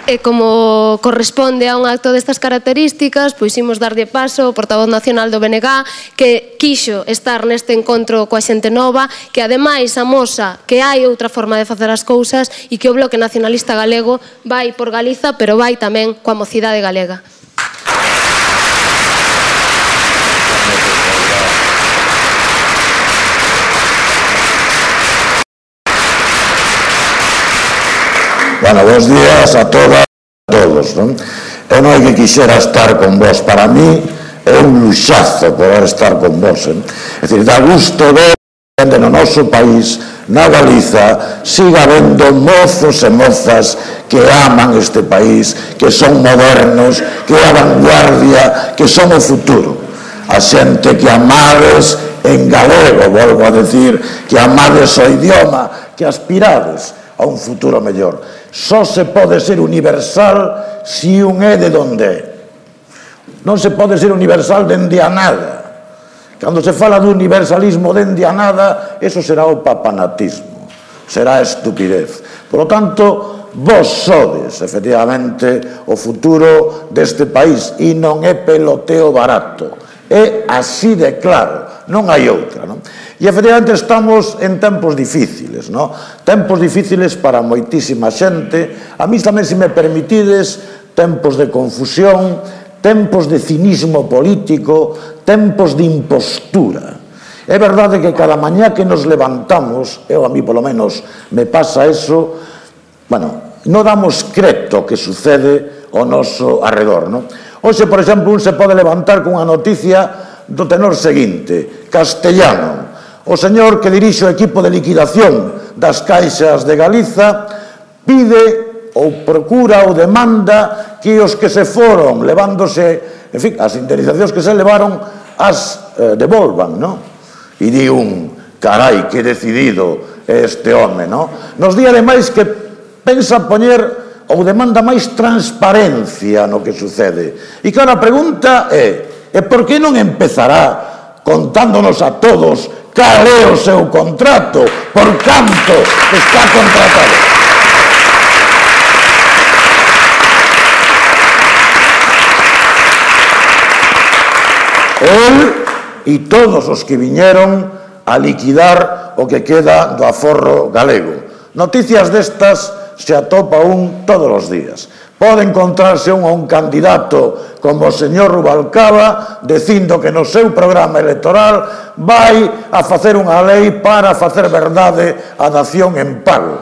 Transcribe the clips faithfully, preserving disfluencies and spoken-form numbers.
E como corresponde a un acto destas características, pois imos darlle paso ao portavoz nacional do B N G, que quixo estar neste encontro coa xente nova, que ademais amosa que hai outra forma de facer as cousas e que o Bloque Nacionalista Galego vai por Galiza, pero vai tamén coa mocidade galega. Bueno, bons días a todas e a todos, non? Eu non é que quixera estar con vos, para mí é un luxazo poder estar con vos, eh? É dicir, dá gusto ver que no noso país, na Galiza, siga habendo mozos e mozas que aman este país, que son modernos, que é a vanguardia, que son o futuro. A xente que amades en galego, volvo a decir, que amades o idioma, que aspirades a un futuro mellor. Só se pode ser universal se un é de donde é. Non se pode ser universal dende a nada. Cando se fala do universalismo dende a nada, eso será o papanatismo, será a estupidez. Por lo tanto, vos sodes, efectivamente, o futuro deste país e non é peloteo barato. É así de claro, non hai outra, non? E efectivamente estamos en tempos difíciles, non? Tempos difíciles para moitísima xente, a mí tamén, se me permitides, tempos de confusión, tempos de cinismo político, tempos de impostura. É verdade que cada mañá que nos levantamos, eu a mí polo menos me pasa eso, bueno, non damos creto que sucede ao noso arredor, non? Hoxe, por exemplo, un se pode levantar con unha noticia do tenor seguinte: Castellano, o señor que dirixe o equipo de liquidación das caixas de Galiza, pide ou procura ou demanda que os que se foron levándose, en fin, as indemnizacións que se levaron as eh, devolvan, non? E di un, carai, que decidido é este home, non? Nos di ademais que pensa poñer ou demanda máis transparencia no que sucede. E claro, a pregunta é, e por que non empezará contándonos a todos cal é o seu contrato, por canto está contratado? El e todos os que viñeron a liquidar o que queda do aforro galego. Noticias destas se atopa un todos os días. Pode encontrarse un a un candidato como o señor Rubalcaba dicindo que no seu programa electoral vai a facer unha lei para facer verdade a dación en pago.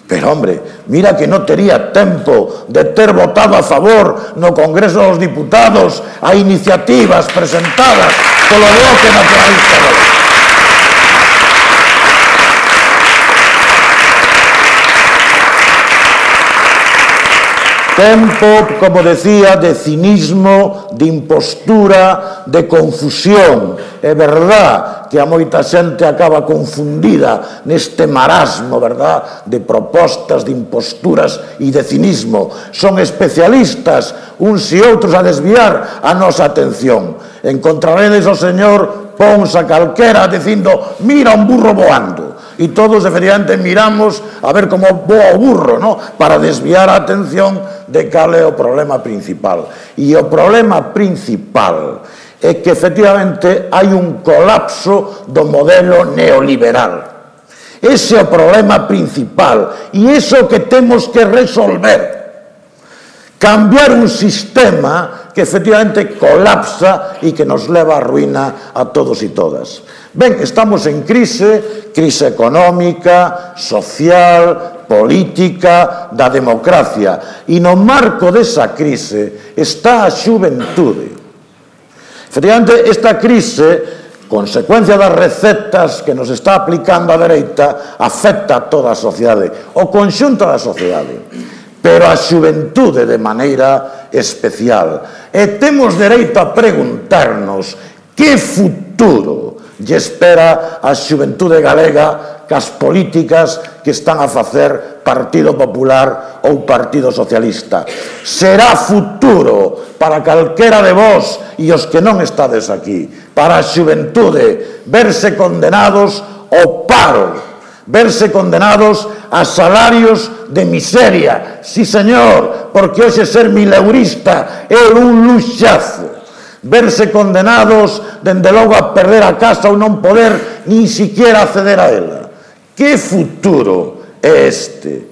Pero, hombre, mira que non tería tempo de ter votado a favor no Congreso dos Diputados a iniciativas presentadas polo Bloque Nacionalista Galego. Tempo, como decía, de cinismo, de impostura, de confusión. É verdad que a moita xente acaba confundida neste marasmo, verdad, de propostas, de imposturas e de cinismo. Son especialistas, uns e outros, a desviar a nosa atención. Encontraredes o señor Pons a calquera dicindo, mira un burro voando. E todos, efectivamente, miramos a ver como voa o burro, ¿no?, para desviar a atención de cal é o problema principal. E o problema principal é que, efectivamente, hai un colapso do modelo neoliberal. Ese é o problema principal e iso que temos que resolver. Cambiar un sistema que, efectivamente, colapsa e que nos leva á ruína a todos e todas. Ben, estamos en crise, crise económica, social, política, da democracia. E no marco desa crise está a xuventude. Efectivamente, esta crise, consecuencia das recetas que nos está aplicando a dereita, afecta a toda a sociedade, o conxunto da sociedade, pero a xuventude de maneira especial. E temos dereito a preguntarnos que futuro lle espera a xuventude galega cas políticas que están a facer Partido Popular ou Partido Socialista. Será futuro para calquera de vós e os que non estades aquí, para a xuventude, verse condenados ao paro, verse condenados a salarios de miseria. Sí, señor, porque hoxe ser mileurista é un luxazo. Verse condenados, dende logo, a perder a casa ou non poder nin siquiera acceder a ela. Que futuro é este?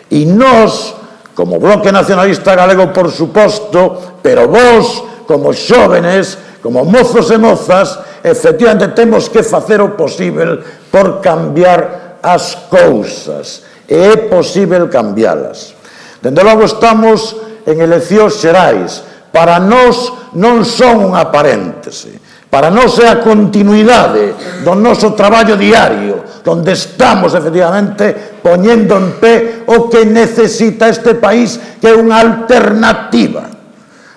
E nós, como Bloque Nacionalista Galego, por suposto, pero vos, como xóvenes, como mozos e mozas, efectivamente temos que facer o posible por cambiar as cousas. E é posible cambialas. Dende logo estamos en eleccións xerais. Para nós non son unha paréntese. Para nós é a continuidade do noso traballo diario, donde estamos, efectivamente, poñendo en pé o que necesita este país, que é unha alternativa.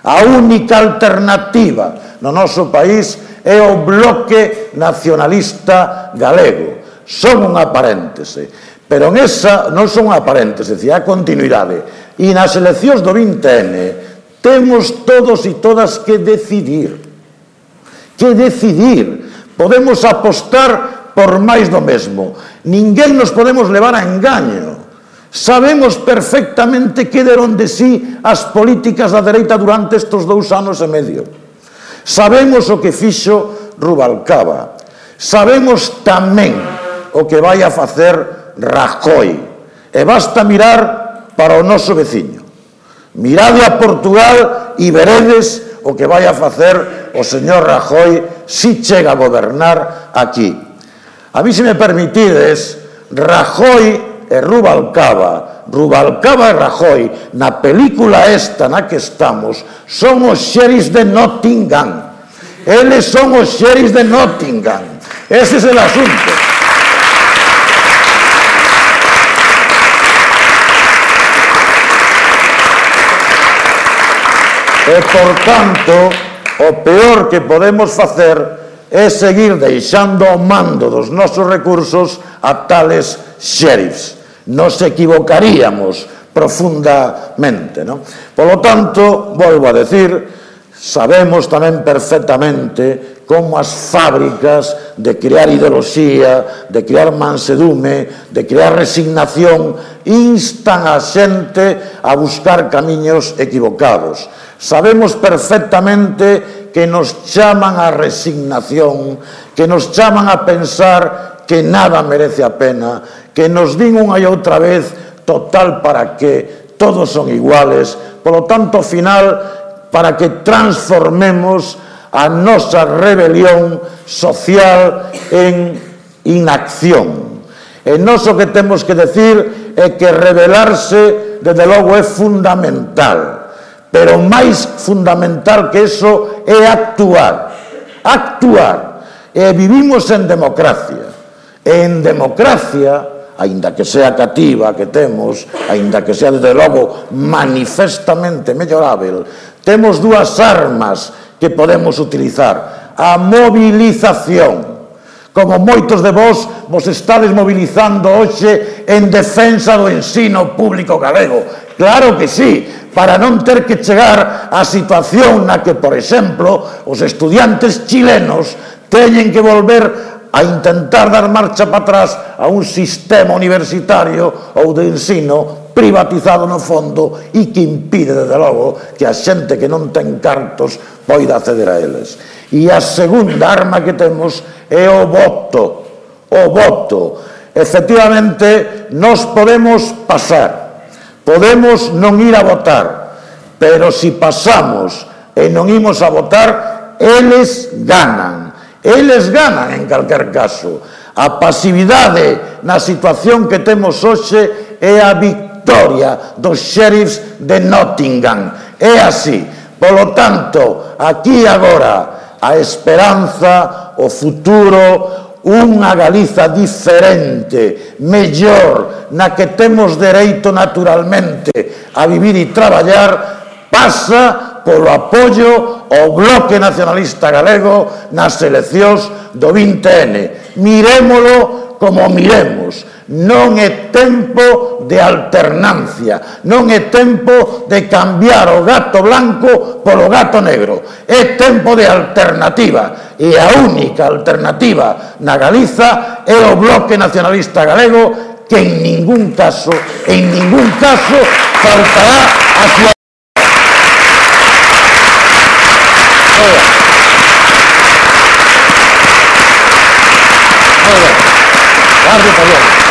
A única alternativa no noso país é o Bloque Nacionalista Galego. Son unha paréntese, pero en esa non son unha paréntese, é a continuidade. E nas eleccións do vinte ene temos todos e todas que decidir. Que decidir. Podemos apostar por máis do mesmo. Ninguén nos podemos levar a engaño. Sabemos perfectamente que deron de sí as políticas da dereita durante estes dous anos e medio. Sabemos o que fixo Rubalcaba. Sabemos tamén o que vai a facer Rajoy. E basta mirar para o noso veciño. Mirade a Portugal e veredes o que vai a facer o señor Rajoy si chega a gobernar aquí. A mí, se me permitides, Rajoy e Rubalcaba, Rubalcaba e Rajoy, na película esta na que estamos, son os xeris de Nottingham. Eles son os xeris de Nottingham. Ese é o asunto. E, por tanto, o peor que podemos facer é seguir deixando o mando dos nosos recursos a tales xerifs. Nos equivocaríamos profundamente, non? Polo tanto, volvo a decir, sabemos tamén perfectamente como as fábricas de crear ideoloxía, de crear mansedume, de crear resignación, instan a xente a buscar camiños equivocados. Sabemos perfectamente que nos chaman a resignación, que nos chaman a pensar que nada merece a pena, que nos din unha e outra vez total para que todos son iguales, polo tanto, ao final, para que transformemos a nosa rebelión social en inacción. E nós o que temos que decir é que rebelarse, desde logo, é fundamental. Pero máis fundamental que eso é actuar. Actuar. E vivimos en democracia. E en democracia, aínda que sea cativa que temos, aínda que sea, desde logo, manifestamente mellorável, temos dúas armas que podemos utilizar. A movilización. Como moitos de vós vos estades mobilizando hoxe en defensa do ensino público galego. Claro que sí, para non ter que chegar á situación na que, por exemplo, os estudiantes chilenos teñen que volver a intentar dar marcha para atrás a un sistema universitario ou de ensino privatizado no fondo e que impide, desde logo, que a xente que non ten cartos poida acceder a eles. E a segunda arma que temos é o voto. O voto. Efectivamente, nós podemos pasar, podemos non ir a votar, pero se pasamos e non imos a votar, eles ganan. Eles ganan, en calquer caso. A pasividade na situación que temos hoxe é a victoria dos xerifs de Nottingham. É así. Polo tanto, aquí agora, a esperanza, o futuro, unha Galiza diferente, mellor, na que temos dereito naturalmente a vivir e traballar, pasa polo apoio ao Bloque Nacionalista Galego nas eleccións do vinte ene. Mirémolo como miremos. Non é tempo de alternancia, non é tempo de cambiar o gato blanco polo gato negro, é tempo de alternativa, e a única alternativa na Galiza é o Bloque Nacionalista Galego, que en ningún caso, en ningún caso faltará a súa... Guardi, Pablo.